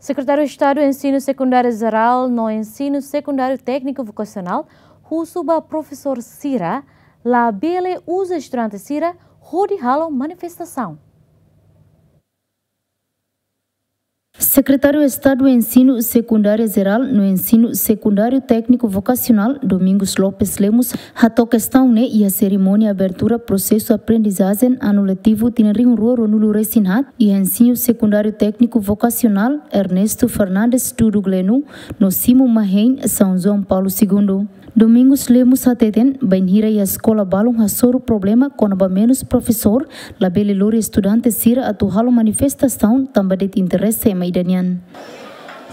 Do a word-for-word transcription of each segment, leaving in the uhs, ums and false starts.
Sekretáriu Estadu Ensinu Sekundáriu Jerál no Ensinu Sekundáriu Tékniku Vokasionál husu ba profesór sira labele uza estudante sira hodi halo manifestasaun. Sekretáriu Estadu Ensinu Sekundáriu Jerál no Ensinu Sekundáriu Tékniku Vokasionál, Domingos Lopes Lemos, hato'o kestaun ne'e iha serimónia abertura prosesu aprendizajen anu letivu tinan rihun rua ruanulu resin haat iha Ensinu Sekundáriu Tékniku Vokasionál Ernesto Fernandes Dudu Gleno no Simu Mahein, São João Paulo Segundo. Domingos Lemos hateten, bainhira iha eskola balun hasoru problema kona-ba menus profesór, labele lori estudante sira atu halo manifestasaun tanba de'it interese ema ida nian.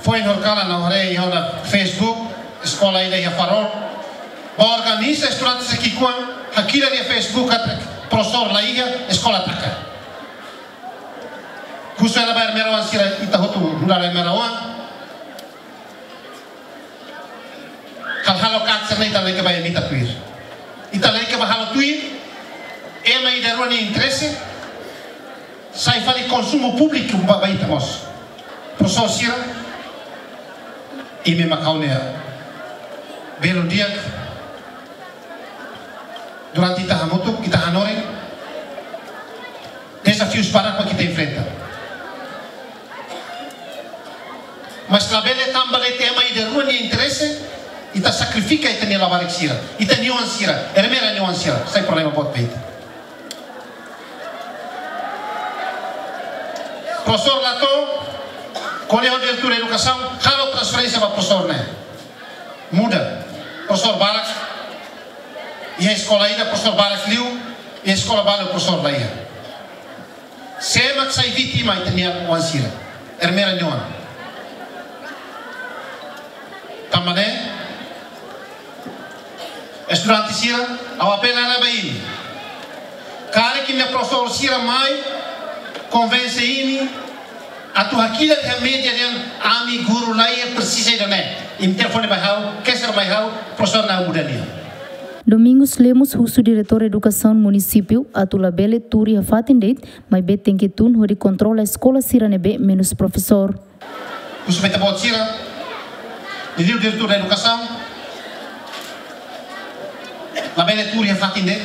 Foin horikalan ha'u haree iha ona Facebook, eskola ida iha Farol. Ba organiza estudante sira ki'ikoan, hakilar iha Facebook katak profesór la iha, eskola taka. Husu hela ba ermera oan sira, ita hotu nu'udar ermera oan. Hal halo katak sira-ne'e ita lalika ba emita tuir. Ita lalika ba halo tuir ema ida rua nia interese, sai fali konsumu públiku ba, ba ita mós. Profesór sira, imi mak ha'u-nia belun di'ak. Durante ita hamutuk, ita hanorin, dezafius barak mak ita enfrenta. Mas labele tanba de'it ema ida rua nia interese, ita sakrifika ita-nia labarik sira, ita-nia oan sira, ermera nia oan sira, sai problema boot ba ita. Profesór la to'o, ko'alia ho diretór edukasaun, halo transferénsia ba profesór ne'e. Muda. Profesór barak iha eskola ida, profesór barak liu iha eskola balu, profesór la iha. Sé mak sai vítima? Ita-nia oan sira, ermera nia oan. Tanba ne'e, estudante sira, ha'u apela hela ba imi. Karik imi-nia profesór sira mai konvense imi atu hakilar iha média dehan ami guru la iha, presiza ida-ne'e, imi telefone mai ha'u, keser mai ha'u, profesór ne'e ha'u muda nia. Domingos Lemos husu diretór edukasaun munisípiu atu labele tuur iha fatin de'it, maibé tenke tun hodi kontrola eskola sira ne'ebé menus profesór. Husu ba ita-boot sira, liuliu diretór edukasaun, labele tuur iha fatin de'it,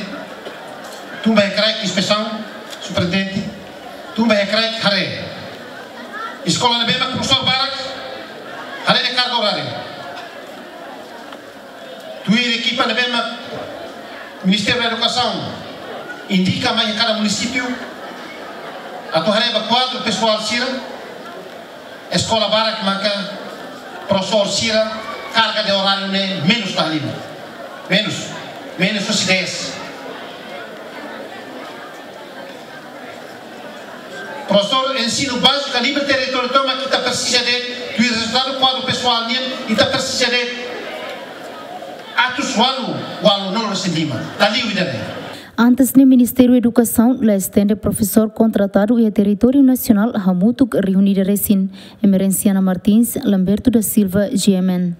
tun ba iha kraik inspesaun, superintendente, tun ba iha kraik haree eskola ne'ebé mak profesór barak, haree nia karga oráriu. Tuir ekipa ne'ebé mak Ministériu Edukasaun indika mai iha kada munisípiu atu haree ba kuadru pesoál sira, eskola barak maka profesór sira karga de oráriu ne'e menus la halimar. Menus, menus husi dez. Profesór ensinu báziku iha territóriu tomak ita presiza de'it, tuir rezultadu kuadru pesoál nian, ita presiza de'it atus ualu, ualunulu resin lima. La liu ida-ne'e. Antes ne'e Ministériu Edukasaun la estende profesór kontratadu iha territóriu nasionál hamutuk rihun ida resin. Emerenciana Martins, Lamberto da Silva, G M N.